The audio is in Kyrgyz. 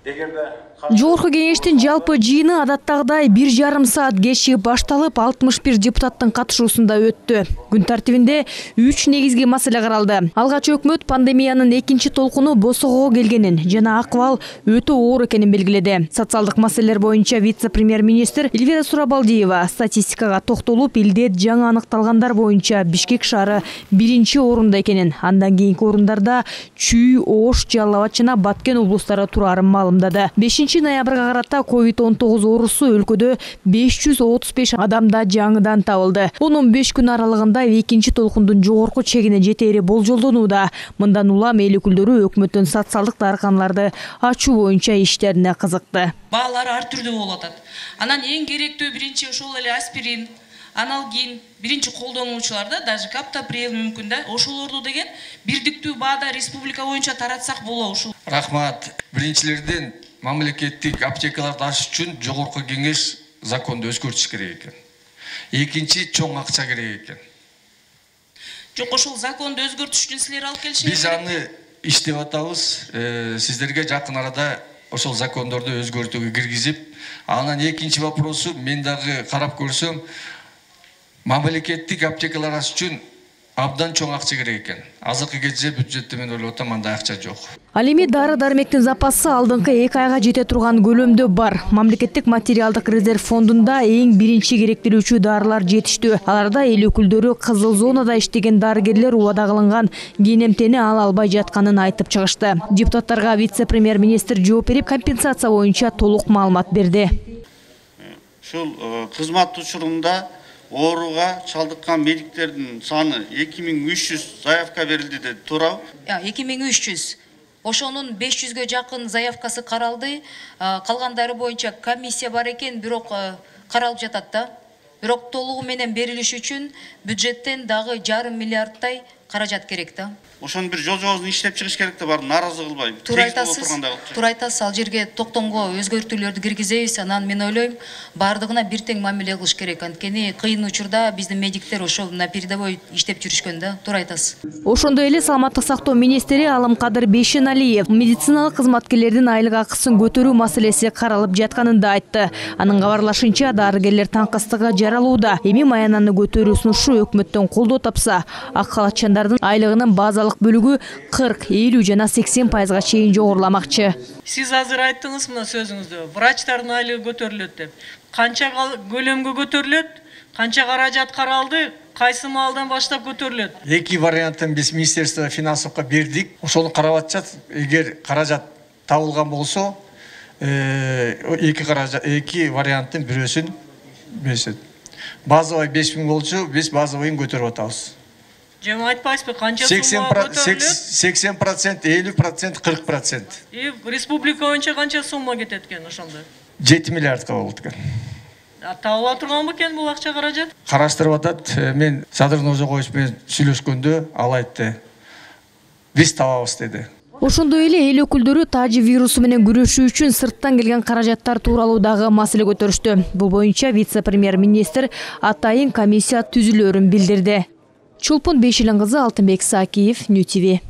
Жогорку кеңештин жалпы жыйыны адаттагыдай 1,5 саат кечигип башталып, 61 депутаттын катышуусунда өттү. Күн тартибинде 3 негизги маселе каралды. Алгач өкмөт пандемиянын экинчи толкуну босогого келгенин жана акыбал өтө оор экенин белгиледи. Социалдык маселелер боюнча вице-премьер-министр Эльвира Сурабалдиева статистикага токтолуп, илдет жаңы аныкталгандар боюнча Бишкек шаары 1-чи орунда экенин, андан кийинки орундарда Чүй, Ош, Жалал Абад жана Баткен облустары турарын маалымдады. 5 ноябрга карата COVID-19 оорусу өлкөдө 535 адамда жаңыдан табылды. Онун 5 күн аралыгында экинчи толкундун жогорку чегине жетери болжолдонууда. Мындан улам эл өкүлдөрү өкмөттүн социалдык дарыканаларды ачуу боюнча иштерине кызыкты. Баалар ар түрдүү болуп атат. Анан эң керектүү биринчи ошол эле аспирин, аналгин, биринчи колдонуучуларда даже каптоприл мүмкүн да, ошолорду деген бирдиктүү баада республика боюнча таратсак болобу ушул. Рахмат. Биринчилерден мамлекеттик аптекаларды ачыш үчүн жогорку кеңеш законду өзгөртүш керек экен. Экинчи чоң акча керек экен. Жок, ошол законду өзгөртүш үчүн силер алып келишиңер. Биз аны иштеп атабыз. Сиздерге жакын арада ошол закондорду өзгөртүүгө киргизип, анан экинчи вопросу мен дагы карап көрсөм, мамлекеттик аптекалар ачыш үчүн абдан чоң акча керек экен. Азыркы кезде бюджетте мен ойлоп атам андай акча жок. Ал эми дары-дармектин запасы алдыңкы 2 айга жете турган көлөмдө бар. Мамлекеттик материалдык резерв фондунда эң биринчи керектелүүчү дарылар жетиштүү. Аларда эл өкүлдөрү кызыл зонада иштеген дарыгерлер убада кылынган кенемтени ала албай жатканын айтып чыгышты. Депутаттарга вице-премьер-министр жооп берип, компенсация боюнча толук маалымат берди. Ушул кызмат учурунда ооруга чалдыккан медиктердин саны 2300 заявка берилди деди, туурабы? 2300. Ошонун 500гө жакын заявкасы каралды. Калгандары боюнча комиссия бар экен, бирок каралып жатат да. Бирок толугу менен берилиши үчүн бюджеттен дагы 1,5 миллиардтай каражат керек да. Ошону бир жол-жобосун иштеп чыгыш керек да, барын нааразы кылбай. Туура айтасыз, ал жерге токтомго өзгөртүүлөрдү киргизебиз. Анан мен ойлойм, бардыгына бир тең мамиле кылыш керек. Анткени кыйын учурда биздин медиктер ошол на передовой иштеп жүрүшкөн да. Туура айтасыз. Ошондой эле саламаттык сактоо министри Алымкадыр Бейшеналиев медициналык кызматкерлердин айлык акысын көтөрүү маселеси каралып жатканын да айтты. Анын кабарлашынча, дарыгерлер таңкыстыгы жаралууда. Эми маянаны көтөрүү сунушу өкмөттөн колдоо тапса, ак халатчандардын айлыгынын базалык бөлүгү 40, 50 жана 80%га чейин жогоруламакчы. Сиз азыр айттыңыз мына сөзүңүздө, врачтардын айлыгы көтөрүлөт деп. Канча көлөмгө көтөрүлөт, канча каражат каралды, кайсы маалдан баштап көтөрүлөт? Эки вариантын биз Министерство финансовго бердик. Ошону карап атышат. Эгер каражат табылган болсо, эки варианттын бирөөсүн беришет. Базовый 5000 болчу, биз базовыйын көтөрүп атабыз. Жема айтпайсызбы, канча сумма көтөрүлөт? 80%, 50%, 40%. Республика боюнча канча сумма кетет экен ошондо? 7 миллиардка болот экен. Табыла турган бекен бул акча каражат? Караштырып атат. Мен Садыр Ножогоевич менен сүйлөшкөндө ал айтты. Биз табабыз деди. Ошондой эле эл өкүлдөрү тажи вирусу менен күрөшүү үчүн сырттан келген каражаттар тууралуу дагы маселе көтөрүштү. Бул боюнча вице-премьер-министр атайын комиссия түзүлөрүн билдирди. Чулпун Бейшилин кызы, Алтынбек Сакиев, Нью ТВ.